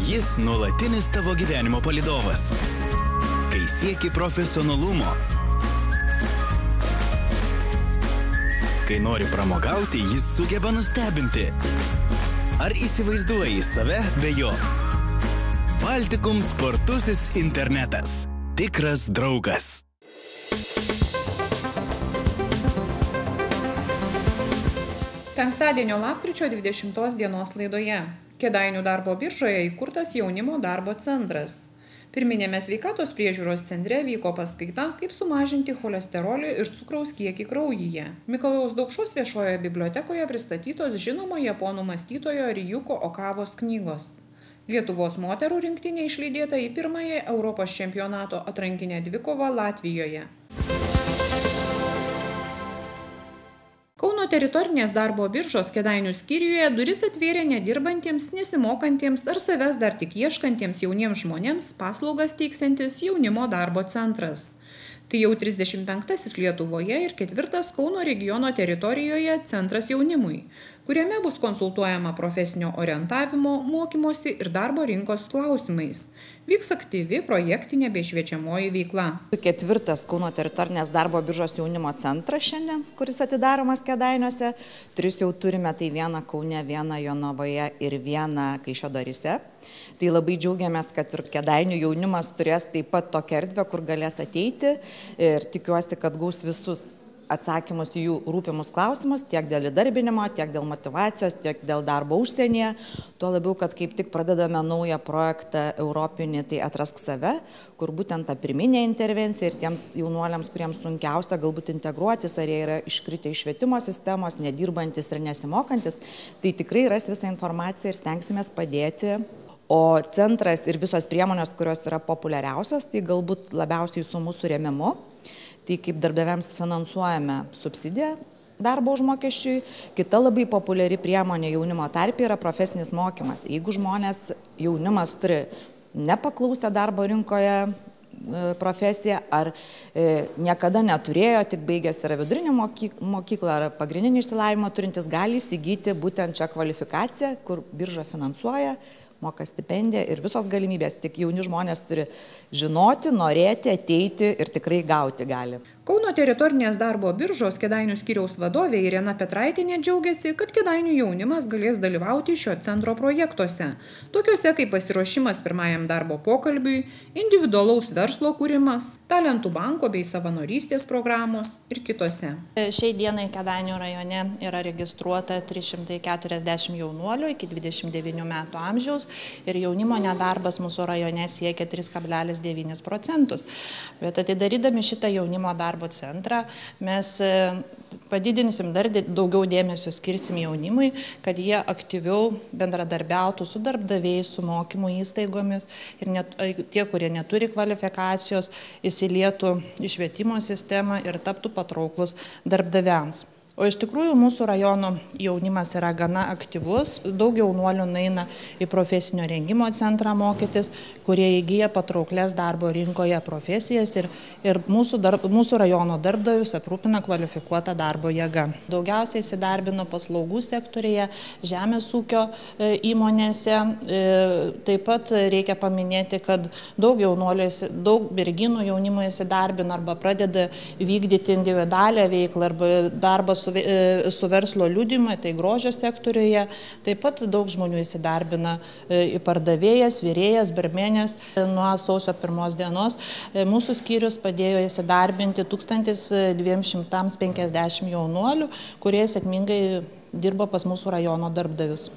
Jis nuolatinis tavo gyvenimo palydovas. Kai sieki profesionalumo, kai nori pramogauti, jis sugeba nustebinti. Ar įsivaizduoji save be jo? Baltikum spartusis internetas. Tikras draugas. Penktadienio lapkričio 20 dienos laidoje. Kėdainių darbo biržoje įkurtas jaunimo darbo centras. Pirminėme sveikatos priežiūros centre vyko paskaita, kaip sumažinti cholesterolį ir cukraus kiekį kraujyje. Mikalojaus Daukšos viešojoje bibliotekoje pristatytos žinomo japonų mąstytojo Ryuko Okavos knygos. Lietuvos moterų rinktinė išlydėta į pirmąją Europos čempionato atrankinę dvikovą Latvijoje. Kauno teritorinės darbo biržos Kėdainių skyriuje duris atvėrė nedirbantiems, nesimokantiems ar savęs dar tik ieškantiems jauniems žmonėms paslaugas teiksiantis jaunimo darbo centras. Tai jau 35-asis Lietuvoje ir 4-as Kauno regiono teritorijoje centras jaunimui, kuriame bus konsultuojama profesinio orientavimo, mokymosi ir darbo rinkos klausimais. Vyks aktyvi projektinė bei šviečiamoji veikla. 4-as Kauno teritorinės darbo biržos jaunimo centras šiandien, kuris atidaromas Kėdainiuose. 3 jau turime, tai 1 Kaune, 1 Jonavoje ir 1 Kaišiadoryse. Tai labai džiaugiamės, kad ir Kėdainių jaunimas turės taip pat tokią erdvę, kur galės ateiti ir tikiuosi, kad gaus visus atsakymus į jų rūpimus klausimus, tiek dėl įdarbinimo, tiek dėl motyvacijos, tiek dėl darbo užsienyje. Tuo labiau, kad kaip tik pradedame naują projektą europinį, tai Atrask save, kur būtent ta pirminė intervencija ir tiems jaunuoliams, kuriems sunkiausia galbūt integruotis, ar jie yra iškritę iš švietimo sistemos, nedirbantis ir nesimokantis, tai tikrai ras visą informaciją ir stengsimės padėti. O centras ir visos priemonės, kurios yra populiariausios, tai galbūt labiausiai su mūsų rėmimu. Tai kaip darbdaviams finansuojame subsidiją darbo užmokesčiui. Kita labai populiari priemonė jaunimo tarpe yra profesinis mokymas. Jeigu jaunimas turi nepaklausę darbo rinkoje profesiją ar niekada neturėjo, tik baigęs yra vidurinę mokyklą ar pagrindinį išsilavinimą turintis, gali įsigyti būtent šią kvalifikaciją, kur birža finansuoja, moka stipendiją ir visos galimybės, tik jauni žmonės turi žinoti, norėti, ateiti ir tikrai gauti gali. Kauno teritorinės darbo biržos Kėdainių skyriaus vadovė Irena Petraitienė džiaugiasi, kad Kėdainių jaunimas galės dalyvauti šio centro projektuose, tokiuose kaip pasiruošimas pirmajam darbo pokalbiui, individualaus verslo kūrimas, talentų banko bei savanorystės programos ir kitose. Šiai dienai Kėdainių rajone yra registruota 340 jaunuolių iki 29 metų amžiaus ir jaunimo nedarbas mūsų rajone siekia 3,9%. Bet atidarydami šitą jaunimo darbo centrą mes padidinsim dar daugiau dėmesio skirsim jaunimui, kad jie aktyviau bendradarbiautų su darbdaviais, su mokymo įstaigomis ir tie, kurie neturi kvalifikacijos, įsilietų į švietimo sistemą ir taptų patrauklus darbdaviams. O iš tikrųjų mūsų rajono jaunimas yra gana aktyvus, daug jaunuolių nueina į profesinio rengimo centrą mokytis, kurie įgyja patrauklės darbo rinkoje profesijas ir mūsų rajono darbdavius aprūpina kvalifikuotą darbo jėgą. Daugiausiai įsidarbino paslaugų sektorėje, žemės ūkio įmonėse. Taip pat reikia paminėti, kad daug merginų jaunimo įsidarbina arba pradeda vykdyti individualią veiklą arba darbą su verslo liudijimai, tai grožio sektoriuje. Taip pat daug žmonių įsidarbina į pardavėjas, virėjas, barmenės. Nuo sausio 1 dienos mūsų skyrius padėjo įsidarbinti 1250 jaunuolių, kurie sėkmingai dirbo pas mūsų rajono darbdavius.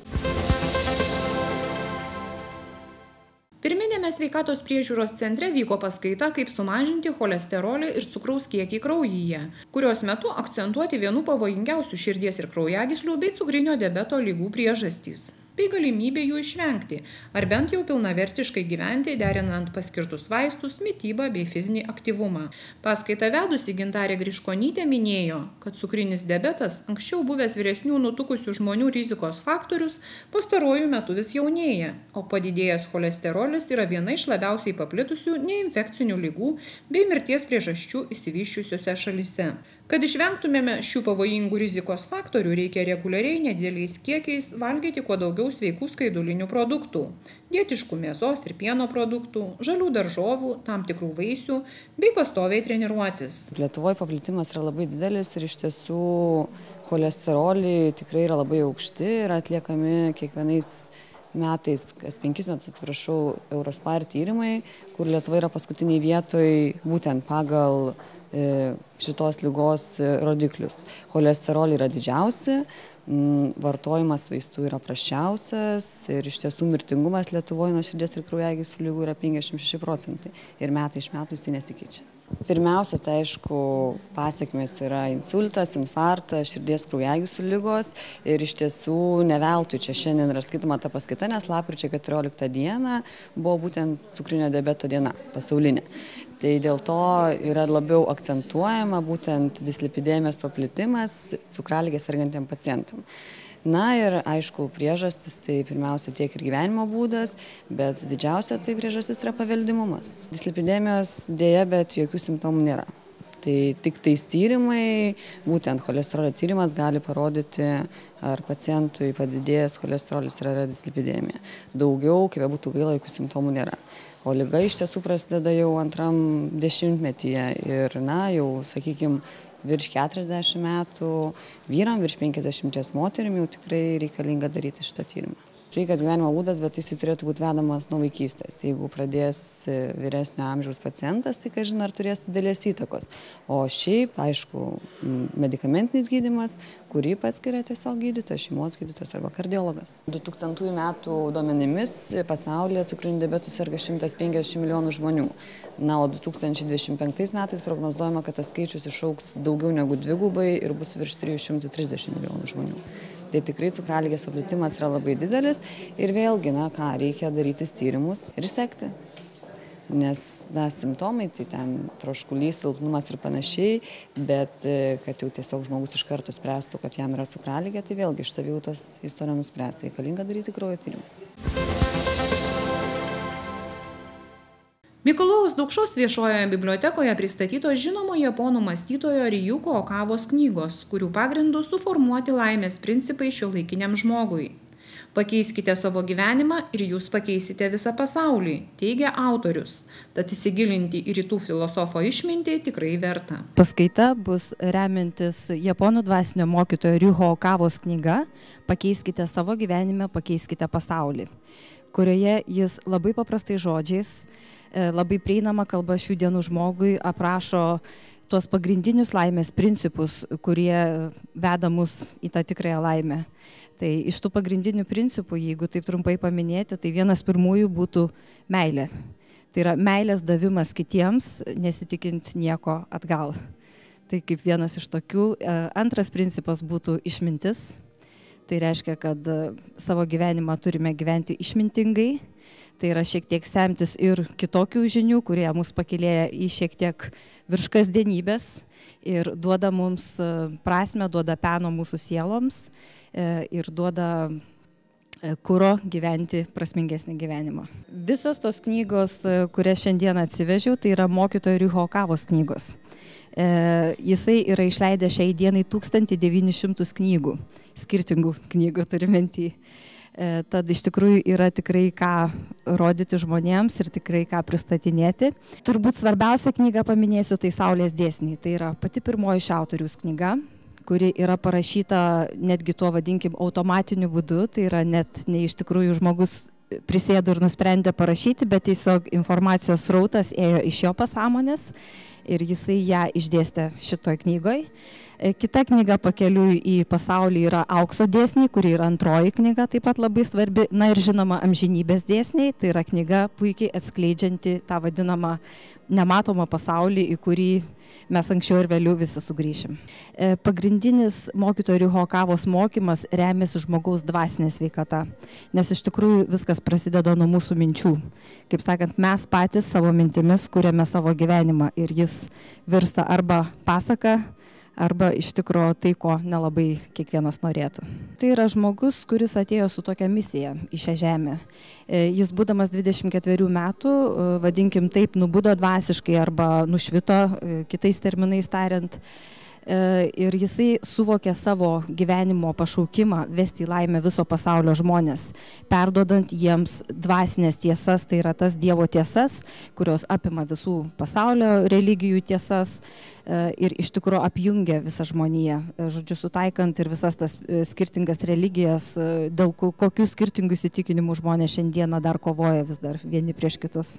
Pirminėme sveikatos priežiūros centre vyko paskaita, kaip sumažinti cholesterolį ir cukraus kiekį kraujyje, kurios metu akcentuoti vienų pavojingiausių širdies ir kraujagyslių bei cukrinio diabeto ligų priežastys. bei galimybė jų išvengti, ar bent jau pilnavertiškai gyventi, derinant paskirtus vaistus, mitybą bei fizinį aktyvumą. Paskaitą vedusi Gintarė Griškonytė minėjo, kad cukrinis diabetas, anksčiau buvęs vyresnių nutukusių žmonių rizikos faktorius, pastaruoju metu vis jaunėja, o padidėjęs cholesterolis yra viena iš labiausiai paplitusių neinfekcinių ligų bei mirties priežasčių išsivysčiusiose šalyse. Kad išvengtumėme šių pavojingų rizikos faktorių, reikia reguliariai nedideliais kiekiais valgyti kuo daugiau įvairių sveikų skaidulinių produktų, dietiškų mėsos ir pieno produktų, žalių daržovų, tam tikrų vaisių, bei pastoviai treniruotis. Lietuvoje paplitimas yra labai didelis ir iš tiesų cholesteroliai tikrai yra labai aukšti ir atliekami kiekvienais metais, kas 5 metus, atsiprašau, Eurospar tyrimai, kur Lietuva yra paskutiniai vietoj būtent pagal šitos ligos rodiklius. Cholesteroliai yra didžiausi, vartojimas vaistų yra prasčiausias ir iš tiesų mirtingumas Lietuvoje nuo širdies ir kraujagyslių ligų yra 56% ir metai iš metų jis tai nesikeičia. Pirmiausia, tai aišku, pasekmės yra insultas, infarktas, širdies kraujagyslių ligos ir iš tiesų ne veltui čia šiandien yra skaitoma ta paskaita, nes lapkričio 14 dieną buvo būtent cukrinio diabeto diena pasaulinė. Tai dėl to yra labiau akcentuojama būtent dislipidemijos paplitimas cukraligės sergantiem pacientam. Na ir aišku, priežastis tai pirmiausia tiek ir gyvenimo būdas, bet didžiausia tai priežastis yra paveldimumas. Dislipidemijos dėja, bet jokių simptomų nėra. Tai tik tais tyrimai, būtent cholesterolio tyrimas gali parodyti, ar pacientui padidėjęs cholesterolis yra dislipidemija. Daugiau, kaip būtų gaila, jokių simptomų nėra. O liga iš tiesų prasideda jau antram dešimtmetyje ir, jau, sakykime, virš 40 metų, vyram virš 50 moterim jau tikrai reikalinga daryti šitą tyrimą. Sveikas gyvenimo būdas, bet jis turėtų būti vedamas nuo vaikystės. Jeigu pradės vyresnio amžiaus pacientas, tai, kažin, ar turės didelės įtakos. O šiaip, aišku, medikamentinis gydymas, kurį paskiria tiesiog gydytojas, šeimos gydytojas arba kardiologas. 2000 metų duomenimis pasaulyje cukriniu diabetu serga 150 milijonų žmonių. O 2025 metais prognozuojama, kad tas skaičius išaugs daugiau negu dvigubai ir bus virš 330 milijonų žmonių. Tai tikrai cukraligės paplitimas yra labai didelis ir vėlgi, reikia daryti tyrimus ir sekti. Nes, simptomai, tai ten troškulys, silpnumas ir panašiai, bet kad jau tiesiog žmogus iš karto spręstų, kad jam yra cukraligė, tai vėlgi iš savijautos jis to nenuspręs. Reikalinga daryti kraujo tyrimus. Mikalojaus Daukšos viešojoje bibliotekoje pristatytos žinomo japonų mąstytojo Ryuko Okavos knygos, kurių pagrindų suformuoti laimės principai šiuolaikiniam žmogui. Pakeiskite savo gyvenimą ir jūs pakeisite visą pasaulį, teigia autorius. Tad įsigilinti į rytų filosofo išmintį tikrai verta. Paskaita bus remiantis japonų dvasinio mokytojo Ryuko Okavos knyga Pakeiskite savo gyvenimą, pakeiskite pasaulį, kurioje jis labai paprastai žodžiais, labai prieinama kalba šių dienų žmogui aprašo tuos pagrindinius laimės principus, kurie veda mus į tą tikrąją laimę. Tai iš tų pagrindinių principų, jeigu taip trumpai paminėti, tai vienas pirmųjų būtų meilė. Tai yra meilės davimas kitiems, nesitikint nieko atgal. Tai kaip vienas iš tokių. Antras principas būtų išmintis. Tai reiškia, kad savo gyvenimą turime gyventi išmintingai. Tai yra šiek tiek semtis ir kitokių žinių, kurie mus pakilėja į šiek tiek virš kasdienybės ir duoda mums prasmę, duoda peno mūsų sieloms ir duoda kuro gyventi prasmingesnį gyvenimą. Visos tos knygos, kurias šiandien atsivežiau, tai yra mokytojo Ryuko Okavos knygos. Jisai yra išleidęs šiai dienai 1900 knygų, skirtingų knygų turimentį. Tad iš tikrųjų yra tikrai ką rodyti žmonėms ir tikrai ką pristatinėti. Turbūt svarbiausia knyga paminėsiu, tai Saulės dėsniai. Tai yra pati pirmoji iš autoriaus knyga, kuri yra parašyta netgi tuo vadinkim automatiniu būdu. Tai yra net ne iš tikrųjų žmogus prisėdo ir nusprendė parašyti, bet tiesiog informacijos srautas ėjo iš jo pasąmonės ir jisai ją išdėstė šitoj knygoj. Kita knyga Pakeliui į pasaulį yra Aukso dėsniai, kuri yra antroji knyga, taip pat labai svarbi. Na ir žinoma, Amžinybės dėsniai, tai yra knyga puikiai atskleidžianti tą vadinamą nematomą pasaulį, į kurį mes anksčiau ir vėliau visi sugrįšim. Pagrindinis mokytojo Ryuko Okavos mokymas remiasi žmogaus dvasinė sveikata, nes iš tikrųjų viskas prasideda nuo mūsų minčių. Kaip sakant, mes patys savo mintimis kuriame savo gyvenimą ir jis virsta arba pasaka, arba iš tikro tai, ko nelabai kiekvienas norėtų. Tai yra žmogus, kuris atėjo su tokia misija į šią žemę. Jis būdamas 24 metų, vadinkim taip, nubudo dvasiškai arba nušvito, kitais terminais tariant, ir jisai suvokė savo gyvenimo pašaukimą vesti į laimę viso pasaulio žmonės, perduodant jiems dvasinės tiesas, tai yra tas Dievo tiesas, kurios apima visų pasaulio religijų tiesas ir iš tikrųjų apjungia visą žmoniją, žodžiu, sutaikant ir visas tas skirtingas religijas, dėl kokių skirtingų įsitikinimų žmonės šiandieną dar kovoja vis dar vieni prieš kitus.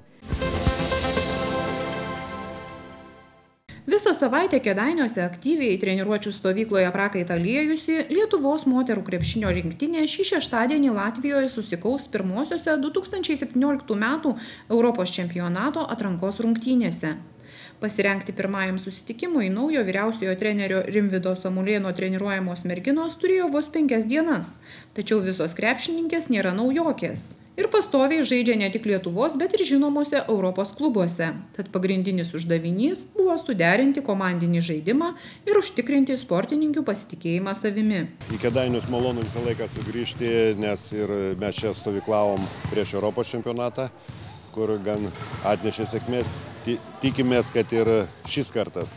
Visą savaitę Kėdainiuose aktyviai treniruočių stovykloje prakaitą liejusi Lietuvos moterų krepšinio rinktinė šį šeštadienį Latvijoje susikaus pirmosiose 2017 metų Europos čempionato atrankos rungtynėse. Pasirengti pirmajam susitikimui naujo vyriausiojo trenerio Rimvydo Samulėno treniruojamos merginos turėjo vos 5 dienas, tačiau visos krepšininkės nėra naujokės. Ir pastoviai žaidžia ne tik Lietuvos, bet ir žinomose Europos klubuose. Tad pagrindinis uždavinys buvo suderinti komandinį žaidimą ir užtikrinti sportininkių pasitikėjimą savimi. Į Kėdainius malonu visą laiką sugrįžti, nes ir mes čia stovyklavom prieš Europos čempionatą, kur gan atnešė sėkmės. Tikimės, kad ir šis kartas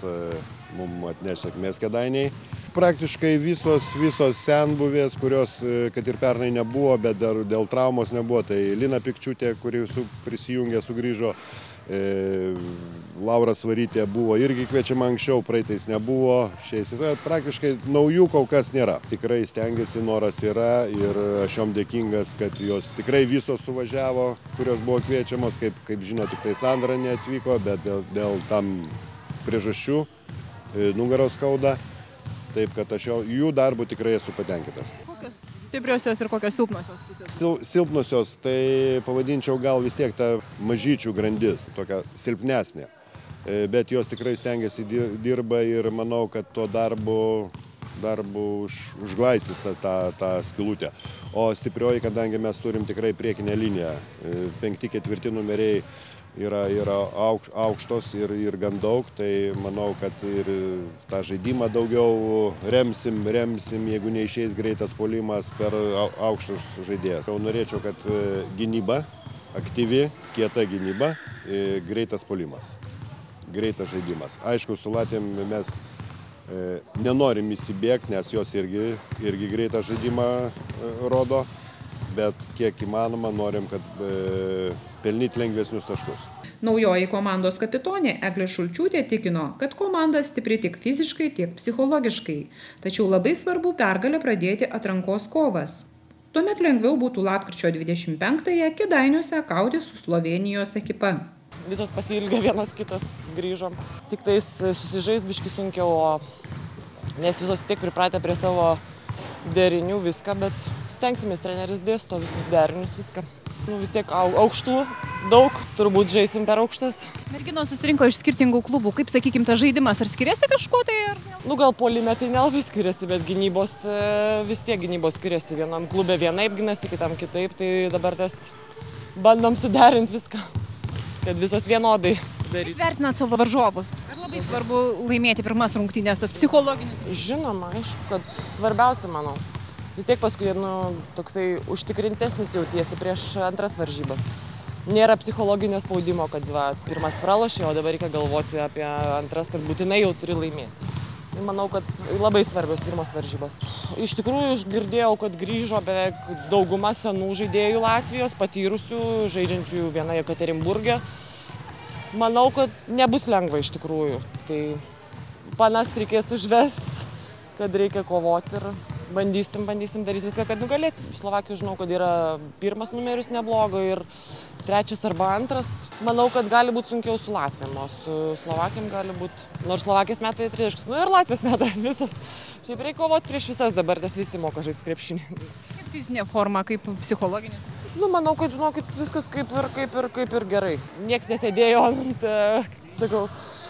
mums atneš sėkmės Kėdainiai. Praktiškai visos senbuvės, kurios, kad ir pernai nebuvo, bet dar dėl traumos nebuvo, tai Lina Pikčiūtė, kuri prisijungė, sugrįžo, Laura Svarytė buvo irgi kviečiama anksčiau, praeitais nebuvo, praktiškai naujų kol kas nėra. Tikrai stengiasi, noras yra ir aš jom dėkingas, kad jos tikrai visos suvažiavo, kurios buvo kviečiamos, kaip žino, tik tai Sandra neatvyko, bet dėl tam priežasčių nugaros skauda. Taip, kad aš jų darbų tikrai esu patenkintas. Kokios stipriosios ir kokios silpnosios pusės? Silpnosios, tai pavadinčiau gal vis tiek tą mažyčių grandis, tokia silpnesnė. Bet jos tikrai stengiasi dirba ir manau, kad tuo darbu užglaisys tą skylutę. O stiprioji, kadangi mes turim tikrai priekinę liniją, 5-4 numeriai yra aukštos ir gan daug, tai manau, kad ir tą žaidimą daugiau remsim, jeigu neišeis greitas puolimas per aukštus žaidėjas. Norėčiau, kad gynyba, aktyvi, kieta gynyba, greitas puolimas, greitas žaidimas. Aišku, su Latvijom mes nenorim įsibėgti, nes jos irgi greitą žaidimą rodo, bet kiek įmanoma norim, kad pelnyti lengvesnius taškus. Naujoji komandos kapitonė Eglė Šulčiūtė tikino, kad komanda stipri tiek fiziškai, tiek psichologiškai. Tačiau labai svarbu pergalę pradėti atrankos kovas. Tuomet lengviau būtų lapkričio 25-ąją Kėdainiuose kauti su Slovėnijos ekipa. Visos pasiilgę vienos kitos grįžom. Tik tais susižais biški sunkiau, nes visos tiek pripratę prie savo derinių viską, bet stengsimės, treneris dėsto visus derinius viską. Vis tiek aukštų daug, turbūt žaisim per aukštas. Merginos susirinko iš skirtingų klubų, kaip, sakykime, tas žaidimas, ar skiriasi kažkuo tai? Gal puolime tai nelabai skiriasi, bet gynybos vis tiek gynybos skiriasi. Vienam klube vienaip ginasi, kitam kitaip, tai dabar tas bandom suderinti viską, kad visos vienodai daryti. Vertinat savo varžovus? Ar labai svarbu laimėti pirmas rungtynes, tas psichologinis? Žinoma, aišku, kad svarbiausia, manau. Vis tiek paskui toksai užtikrintesnis jautiesi prieš antras varžybas. Nėra psichologinio spaudimo, kad pirmas pralošė, o dabar reikia galvoti apie antras, kad būtinai jau turi laimėti. Manau, kad labai svarbios pirmos varžybos. Iš tikrųjų, girdėjau, kad grįžo beveik dauguma senų žaidėjų Latvijos, patyrusių, žaidžiančių vieną Jekaterinburge. Manau, kad nebus lengva iš tikrųjų. Tai panas reikės užvesti, kad reikia kovoti ir bandysim daryti viską, kad nugalėti. Slovakijos žinau, kad yra pirmas numeris neblogo ir trečias arba antras. Manau, kad gali būti sunkiau su Latvijom, o su Slovakijom gali būti. Nors Slovakijos metai 30, ir Latvijos metai visos. Šiaip reikia kovoti prieš visas dabar, nes visi moka žaisti krepšinį. Kaip fizinė forma, kaip psichologinis? Manau, kad žinokit, viskas kaip ir gerai. Niekas nesėdėjo ant,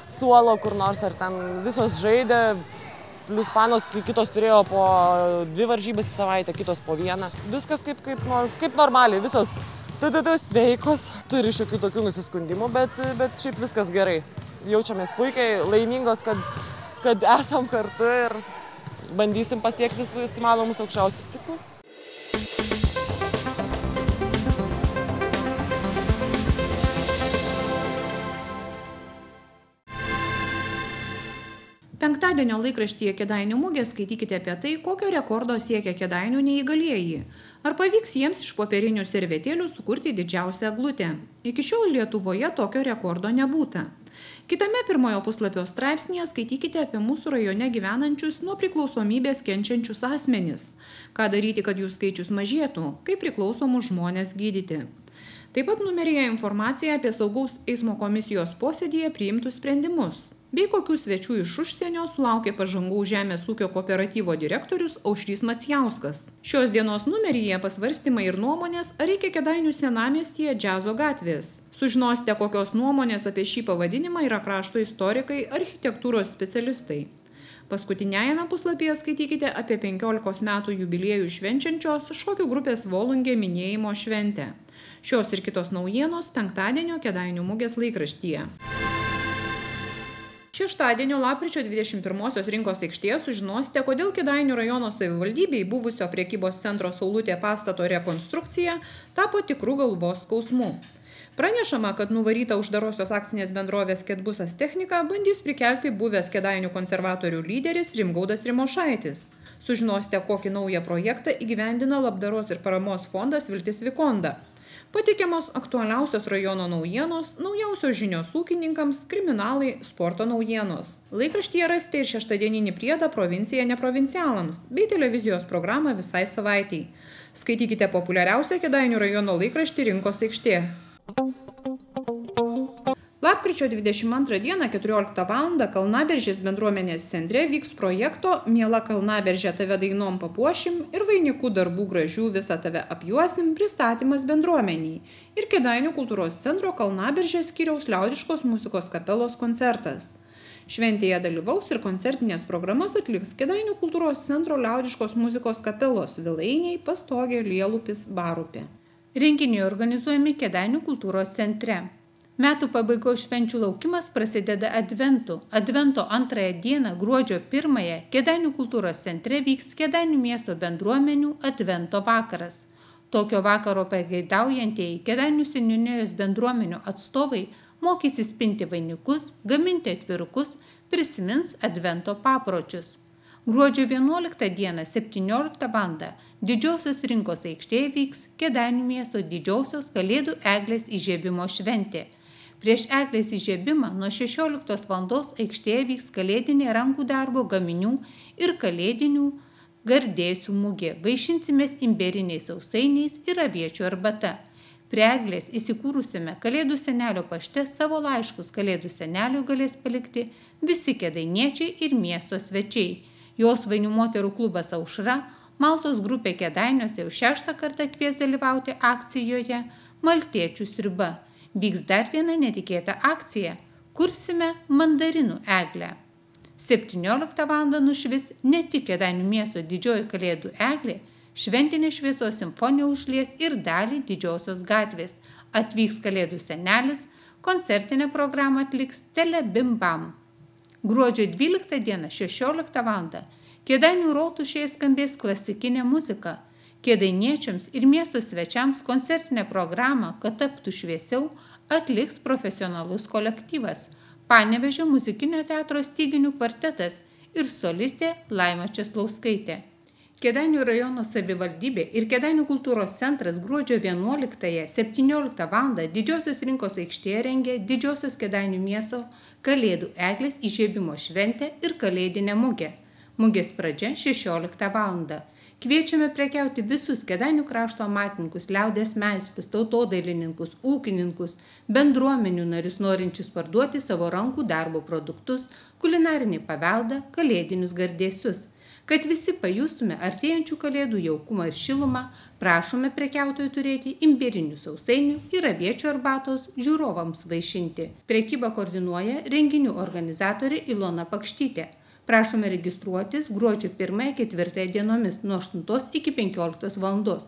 suolo kur nors, ar ten visos žaidė. Plius panos, kitos turėjo po 2 varžybas į savaitę, kitos po 1. Viskas kaip normaliai, visos sveikos, turi šiokių tokių nusiskundimų, bet šiaip viskas gerai. Jaučiamės puikiai, laimingos, kad esam kartu ir bandysim pasiekti visus įmanomus aukščiausius tikslus. Penktadienio laikraštyje Kėdainių mugė skaitykite apie tai, kokio rekordo siekia Kėdainių neįgalieji. Ar pavyks jiems iš popierinių servetėlių sukurti didžiausią eglutę? Iki šiol Lietuvoje tokio rekordo nebūta. Kitame pirmojo puslapio straipsnėje skaitykite apie mūsų rajone gyvenančius nuo priklausomybės kenčiančius asmenis. Ką daryti, kad jų skaičius mažėtų, kaip priklausomus žmonės gydyti. Taip pat numeryje informacija apie saugaus eismo komisijos posėdyje priimtus sprendimus, bei kokių svečių iš užsienio sulaukė Pažangaus žemės ūkio kooperatyvo direktorius Aušrys Macijauskas. Šios dienos numeryje pasvarstymai ir nuomonės, ar reikia Kėdainių senamiestyje džiazo gatvės. Sužinosite, kokios nuomonės apie šį pavadinimą yra krašto istorikai, architektūros specialistai. Paskutiniajame puslapyje skaitykite apie 15 metų jubiliejų švenčiančios šokių grupės Volungė minėjimo šventę. Šios ir kitos naujienos penktadienio Kėdainių mugės laikraštyje. Šeštadienio lapkričio 21 rinkos aikštėje sužinosite, kodėl Kėdainių rajono savivaldybei buvusio prekybos centro Saulutė pastato rekonstrukcija tapo tikrų galvos skausmu. Pranešama, kad nuvaryta uždarosios akcinės bendrovės Ketbusas technika bandys prikelti buvęs Kėdainių konservatorių lyderis Rimgaudas Rimošaitis. Sužinosite, kokį naują projektą įgyvendina labdaros ir paramos fondas Viltis Vikonda. Pateikiamos aktualiausios rajono naujienos, naujausios žinios ūkininkams, kriminalai, sporto naujienos. Laikraštyje rasite ir šeštadieninį priedą Provincija neprovincialams bei televizijos programą visai savaitei. Skaitykite populiariausią Kėdainių rajono laikraštį Rinkos aikštė. Lapkričio 22 dieną 14 val. Kalnaberžės bendruomenės centre vyks projekto Miela Kalnaberžė tave dainom papuošim ir vainikų darbų gražių visą tave apjuosim pristatymas bendruomeniai ir Kėdainių kultūros centro Kalnaberžės skyriaus liaudiškos muzikos kapelos koncertas. Šventėje dalyvaus ir koncertinės programas atliks Kėdainių kultūros centro liaudiškos muzikos kapelos Vilainiai, Pastogė, Lielupis, Barupė. Renginiai organizuojami Kėdainių kultūros centre. Metų pabaigos švenčių laukimas prasideda Adventu. Advento antrąją dieną, gruodžio 1-ąją, Kėdainių kultūros centre vyks Kėdainių miesto bendruomenių Advento vakaras. Tokio vakaro pageidaujantieji Kėdainių seniūnijos bendruomenių atstovai mokysis pinti vainikus, gaminti atvirukus, prisimins Advento papročius. Gruodžio 11 dieną 17 val. Didžiosios rinkos aikštėje vyks Kėdainių miesto didžiosios Kalėdų eglės įžiebimo šventė. Prieš eglės įžiebimą nuo 16 val. Aikštėje vyks kalėdinė rankų darbo gaminių ir kalėdinių gardėsių mugė. Vaišinsimės imberiniais sausainiais ir aviečių arbata. Prie eglės įsikūrusiame Kalėdų senelio pašte savo laiškus Kalėdų seneliui galės palikti visi kėdainiečiai ir miesto svečiai. Jos vainių moterų klubas Aušra, Maltos grupė Kėdainiuose jau 6 kartą kvies dalyvauti akcijoje Maltiečių sriuba. Vyks dar viena netikėta akcija. Kursime mandarinų eglę. 17 val. Nušvis ne tik Kėdainių miesto didžioji Kalėdų eglė, šventinė šviesos simfonija užlies ir dalį Didžiosios gatvės. Atvyks Kalėdų senelis, koncertinę programą atliks Telebimbam. Gruodžio 12 dieną 16 val. Kėdainių rotušėje skambės klasikinė muzika. Kėdainiečiams ir miesto svečiams koncertinę programą, kad taptų šviesiau, atliks profesionalus kolektyvas Panevėžio muzikinio teatro styginių kvartetas ir solistė Laima Česlauskaitė. Kėdainių rajono savivaldybė ir Kėdainių kultūros centras gruodžio 11-17 val. Didžiosios rinkos aikštėje rengia Didžiosios Kėdainių miesto Kalėdų eglės įžiebimo šventę ir kalėdinę mugę. Mugės pradžia 16 val. Kviečiame prekiauti visus Kėdainių krašto amatininkus, liaudies meistrus, tautodailininkus, ūkininkus, bendruomenių narius norinčius parduoti savo rankų darbo produktus, kulinarinį paveldą, kalėdinius gardėsius. Kad visi pajustume artėjančių kalėdų jaukumą ir šilumą, prašome prekiautojų turėti imbierinių sausainių ir aviečių arbatos žiūrovams vaišinti. Prekybą koordinuoja renginių organizatorė Ilona Pakštytė. Prašome registruotis gruodžio 1-4 dienomis nuo 8 iki 15 val.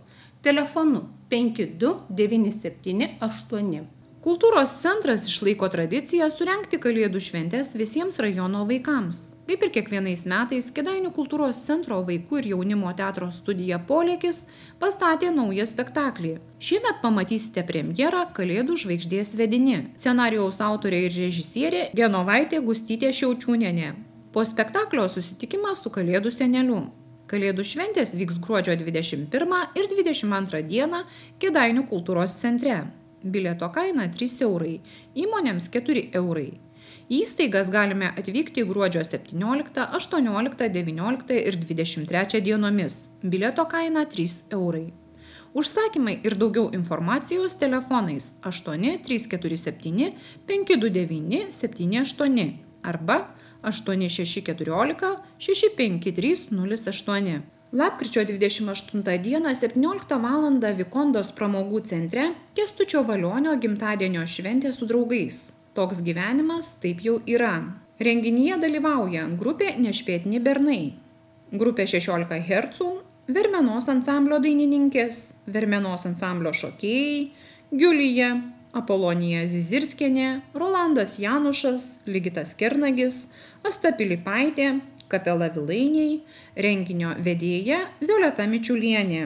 Telefonu 5297 8. Kultūros centras išlaiko tradiciją surengti Kalėdų šventes visiems rajono vaikams. Kaip ir kiekvienais metais, Kėdainių kultūros centro vaikų ir jaunimo teatro studija Polėkis pastatė naują spektaklį. Šiemet pamatysite premjerą Kalėdų žvaigždės vedini. Scenarijaus autorė ir režisierė Genovaitė Gustytė Šiaučiūnienė. Po spektaklio susitikimas su Kalėdų seneliu. Kalėdų šventės vyks gruodžio 21 ir 22 dieną Kėdainių kultūros centre. Bilieto kaina 3 eurai, įmonėms 4 eurai. Į įstaigas galime atvykti gruodžio 17, 18, 19 ir 23 dienomis. Bilieto kaina 3 eurai. Užsakymai ir daugiau informacijos telefonais 8 347 529 78 arba 8614 65308. Lapkričio 28 dieną 17 val. Vikondos pramogų centre Kęstučio Valionio gimtadienio šventė su draugais. Toks gyvenimas taip jau yra. Renginyje dalyvauja grupė Nešpėtni bernai, grupė 16 Hercų, Vermenos ansamblio dainininkės, Vermenos ansamblio šokėjai, Giulija, Apolonija Zizirskienė, Rolandas Janušas, Ligitas Kernagis, Asta Pilipaitė, Kapela Vilainiai, renginio vedėja Violeta Mičiulienė.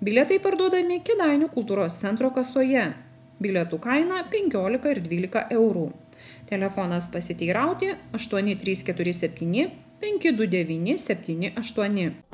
Bilietai parduodami Kėdainių kultūros centro kasoje. Bilietų kaina 15 ir 12 eurų. Telefonas pasiteirauti 8347 529 78.